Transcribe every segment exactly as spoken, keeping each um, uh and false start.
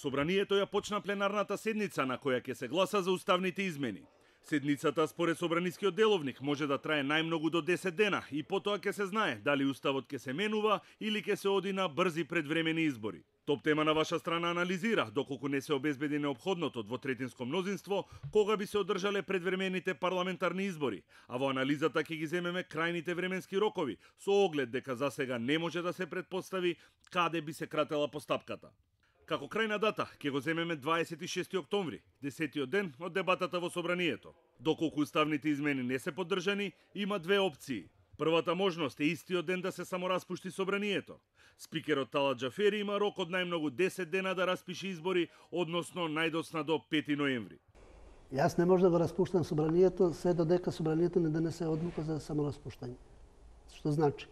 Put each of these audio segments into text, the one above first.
Собранието ја почна пленарната седница на која ќе се гласа за уставните измени. Седницата според Собранискиот деловник може да трае најмногу до десет дена и потоа ќе се знае дали уставот ќе се менува или ќе се оди на брзи предвремени избори. Топ тема на ваша страна анализира доколку не се обезбеди неопходното двотретинско мнозинство кога би се одржале предвремените парламентарни избори, а во анализата ќе ги земеме крајните временски рокови со оглед дека засега не може да се претпостави каде би се кратела постапката. Како крајна дата ќе го земеме дваесет и шести октомври, десетиот ден од дебатата во Собранието. Доколку уставните измени не се поддржани, има две опции. Првата можност е истиот ден да се самораспушти Собранието. Спикерот Талат Џафери има рок од најмногу десет дена да распише избори, односно најдосна до пети ноември. Јас не може да го распуштам Собранието се додека Собранието не донесе одлука за самораспуштање. Што значи?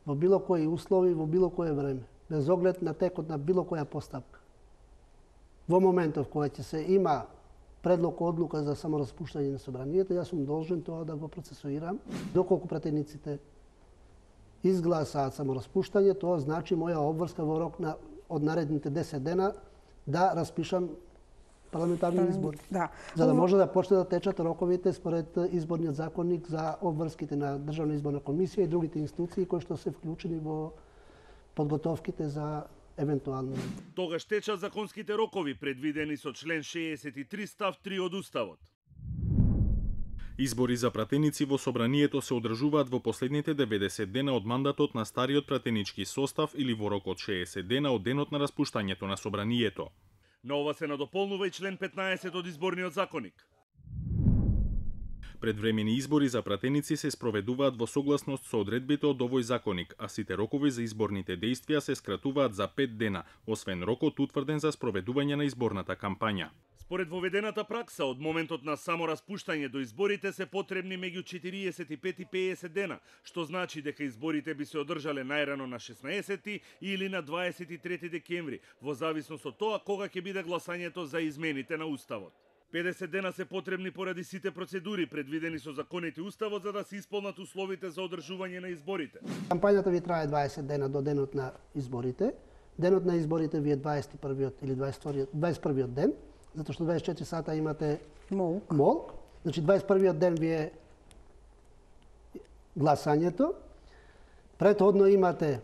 Во било кои услови, во било кое време, без оглед на текот на било која постапка. Во моментов кога ќе се има предлог одлука за самораспуштање на Собранието, јас сум должен тоа да го процесуирам. Доколку пратениците изгласаат самораспуштање, тоа значи моја обврска во рок на од наредните десет дена да распишам парламентарни избори. Да. За да може да почне да течат роковите според изборниот законник за обврските на Државна изборна комисија и другите институции кои што се вклучени во подготовките за евентуално. Тогаш течат законските рокови предвидени со член шеесет и три став три од Уставот. Избори за пратеници во Собранието се одржуваат во последните деветдесет дена од мандатот на стариот пратенички состав или во рок од шеесет дена од денот на распуштањето на Собранието. На ова се надополнува и член петнаесет од изборниот законник. Предвремени избори за пратеници се спроведуваат во согласност со одредбите од овој законник, а сите рокови за изборните дејствија се скратуваат за пет дена, освен рокот утврден за спроведување на изборната кампања. Според воведената пракса, од моментот на самораспуштање до изборите се потребни меѓу четириесет и пет и педесет дена, што значи дека изборите би се одржале најрано на шеснаесети или на дваесет и трети декември, во зависност од тоа кога ќе биде гласањето за измените на Уставот. педесет дена се потребни поради сите процедури предвидени со законите Уставот за да се исполнат условите за одржување на изборите. Кампањата ви трае дваесет дена до денот на изборите. Денот на изборите ви е дваесет и првиот или дваесет и вториот, дваесет и првиот ден, затоа што дваесет и четири сата имате молк. молк. Значи дваесет и првиот ден ви е гласањето. Претходно имате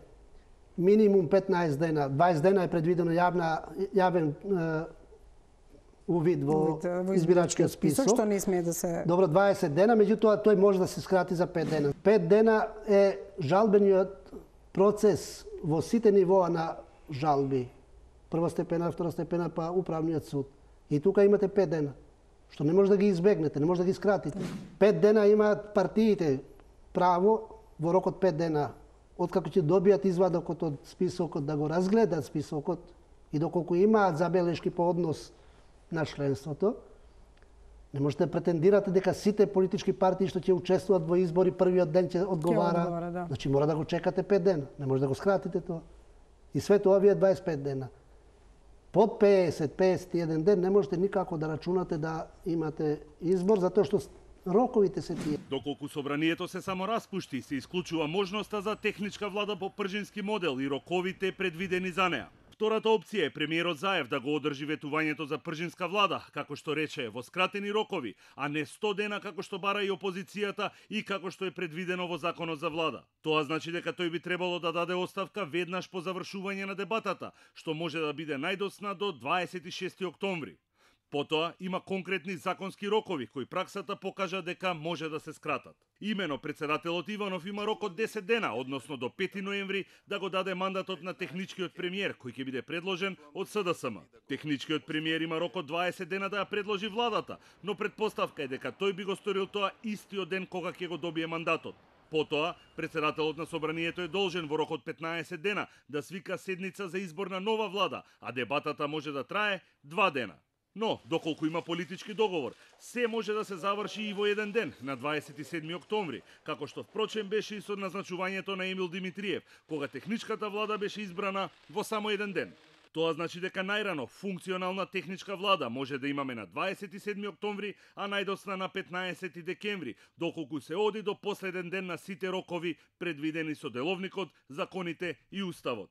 минимум петнаесет дена, дваесет дена е предвидено јавна јавен е, увид во, во избирачкиот список, што не смее да се... Добро, дваесет дена, меѓутоа тој може да се скрати за пет дена. пет дена е жалбениот процес во сите нивоа на жалби. Прва степена, втора степена, па управниот суд. И тука имате пет дена, што не може да ги избегнете, не може да ги скратите. пет дена имаат партиите право во рок од пет дена, откако ќе добијат извадокот од списокот, да го разгледат списокот и доколку имаат забелешки по однос на членството, не можете да претендирате дека сите политички партии што ќе учествуваат во избори првиот ден ќе одговара. одговара да. Значи мора да го чекате пет дена, не може да го скратите тоа. И све тоа ви е дваесет и пет дена. Под педесет до педесет и еден ден не можете никако да рачунате да имате избор, затоа што роковите се тие. Доколку Собранието се само распушти, се исклучува можноста за техничка влада по пржински модел и роковите предвидени за неа. Втората опција е премиерот Заев да го одржи ветувањето за пржинска влада, како што рече, во скратени рокови, а не сто дена како што бара и опозицијата и како што е предвидено во законот за влада. Тоа значи дека тој би требало да даде оставка веднаш по завршување на дебатата, што може да биде најдосна до дваесет и шести октомври. Потоа има конкретни законски рокови кои праксата покажа дека може да се скратат. Имено председателот Иванов има рок од десет дена, односно до пети ноември, да го даде мандатот на техничкиот премиер кој ќе биде предложен од С Д С М. Техничкиот премиер има рок од дваесет дена да ја предложи владата, но предпоставка е дека тој би го сторил тоа истиот ден кога ќе го добие мандатот. Потоа, председателот на Собранието е должен во рок од петнаесет дена да свика седница за избор на нова влада, а дебатата може да трае два дена. Но, доколку има политички договор, се може да се заврши и во еден ден, на дваесет и седми октомври, како што впрочем беше и со назначувањето на Емил Димитриев, кога техничката влада беше избрана во само еден ден. Тоа значи дека најрано функционална техничка влада може да имаме на дваесет и седми октомври, а најдосна на петнаесети декември, доколку се оди до последен ден на сите рокови предвидени со деловникот, законите и Уставот.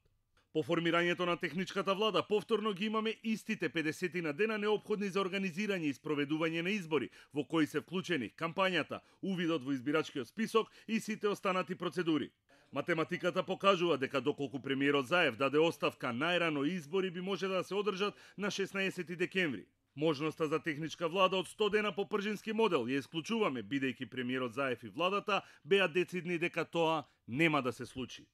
По формирањето на техничката влада, повторно ги имаме истите педесет на дена неопходни за организирање и спроведување на избори, во кои се вклучени кампањата, увидот во избирачкиот список и сите останати процедури. Математиката покажува дека доколку премиерот Заев даде оставка најрано, избори би може да се одржат на шеснаесети декември. Можноста за техничка влада од сто дена по пржински модел ја исклучуваме, бидејќи премиерот Заев и владата беа децидни дека тоа нема да се случи.